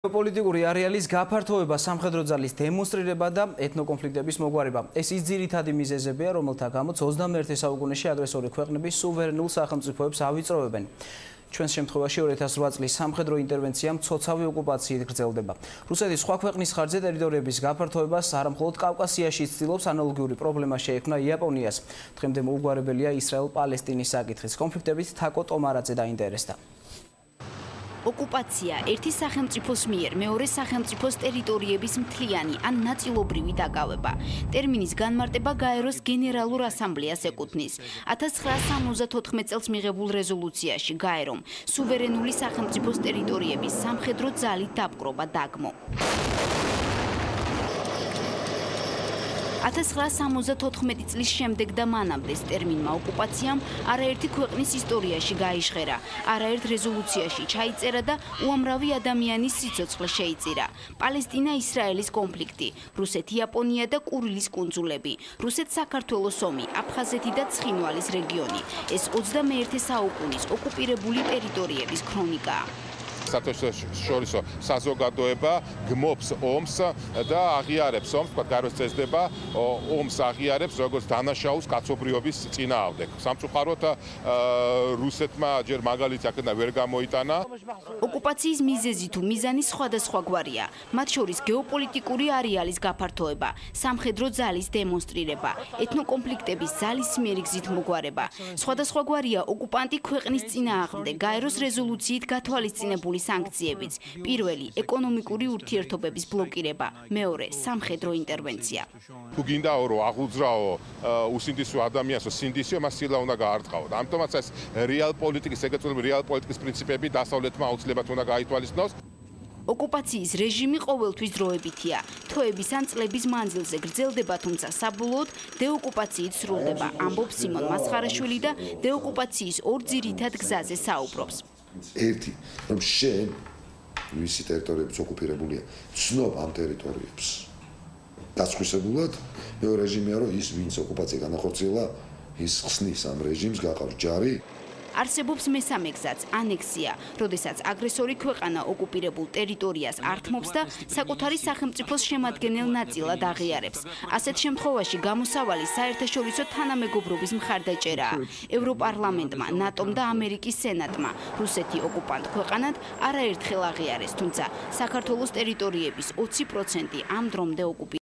პოლიტიკური არეალის გაფართოება, სამხედრო ძალის დემონსტრირება და ეთნოკონფლიქტების მოგვარება. ეს ის ძირითადი მიზეზებია, რომელთა გამოც 21 საუკუნეში აგრესორი ქვეყნების სუვერენულ სახელმწიფოებს ავიწროვებენ. ჩვენს შემთხვევაში 2008 წლის სამხედრო ინტერვენცია მცოცავი ოკუპაციით გრძელდება. რუსეთი სხვა ქვეყნის ხარჯზე ტერიტორიების გაფართოებას არამხოლოდ კავკასიაში ცდილობს, ანალოგიური პრობლემა შეექმნა იაპონიას. დღემდე მოუგვარებელია ისრაელ-პალესტინის საკითხის კონფლიქტებით თაკო ტომარაძე დაინტერესდა. ოკუპაცია ერთი სახელმწიფოს მიერ მეორე სახელმწიფოს ტერიტორიების მთლიანი ან ნაწილობრივი დაკავება. ტერმინის განმარტება გაეროს გენერალურ ასამბლეას ეკუთვნის. 1974 წელს მიღებულ რეზოლუციაში გაერომ სუვერენული სახელმწიფოს ტერიტორიების სამხედრო ძალით დაპყრობა დაგმო. 1974 წლის შემდეგ და მანამდე ტერმინმა ოკუპაციამ არაერთი ქვეყნის ისტორიაში გაიჟღერა, არაერთ რეზოლუციაში ჩაიწერა და უამრავი ადამიანის სიცოცხლე შეიწირა. პალესტინა-ისრაელის კონფლიქტი, რუსეთ-იაპონია და კურილის კუნძულები, რუსეთ-საქართველოს ომი, აფხაზეთი და ცხინვალის რეგიონი. ეს 21 საუკუნის ოკუპირებული ტერიტორიების ქრონიკაა. საერთაშორისო საზოგადოება გმობს ომს და აღიარებს ომს, გაეროს წესდება ომს აღიარებს როგორც დანაშაულს კაცობრიობის წინააღმდეგ. სამწუხაროდ რუსეთმა ჯერ მაგალითი აქედან ვერ გამოიტანა. ოკუპაციის მიზეზი თუ მიზანი სხვადასხვაგვარია, მათ შორის გეოპოლიტიკური არეალის გაფართოება, სამხედრო ძალის დემონსტრირება, ეთნოკონფლიქტების ძალისმიერი გზით მოგვარება. სხვადასხვაგვარია ოკუპანტი ქვეყნის წინააღმდეგ გაეროს რეზოლუციით გათვალისწინებული სანქციებიც. პირველი ეკონომიკური ურთიერთობების ბლოკირება, მეორე სამხედრო ინტერვენცია. თუ გინდაო რომ აღუძრაო უსინდისო ადამიანს სინდისო მას სილა უნდა გაარტყაო. ამიტომაც ეს რეალ პოლიტიკის ეგრეთწოდებული რეალ პოლიტიკის პრინციპები დასავლეთმა აუცილებლად უნდა გაითვალისწინოს. ოკუპაციის რეჟიმი ყოველთვის დროებითია. თვეების ან წლების მანძილზე გრძელდება, თუმცა საბოლოოდ დეოკუპაციით სრულდება, ამბობს სიმონ მასხარაშვილი და დეოკუპაციის ორ ძირითად გზაზე საუბრობს. ერთი, რომ შენ ვისი ტერიტორიებიც ოკუპირებულია, ცნობ ამ ტერიტორიებს. გასხვისებულად, მეორე რეჟიმია, რომ ის ვინც ოკუპაცია განახორციელა, ის ხსნის ამ რეჟიმს, გაყავს ჯარი. არსებობს მესამე გზაც, ანექსია, როდესაც აგრესორი ქვეყანა ოკუპირებულ ტერიტორიას ართმობს და საკუთარი სახელმწიფოს შემადგენელ ნაწილად აღიარებს. ასეთ შემთხვევაში გამოსავალი საერთაშორისო თანამეგობრობის მხარდაჭერაა. ევროპარლამენტმა, ნატომ და ამერიკის სენატმა რუსეთი ოკუპანტ ქვეყანად არაერთხელ აღიარეს, თუმცა საქართველოს ტერიტორიების 20% ამ დრომდე ოკუპირებულია.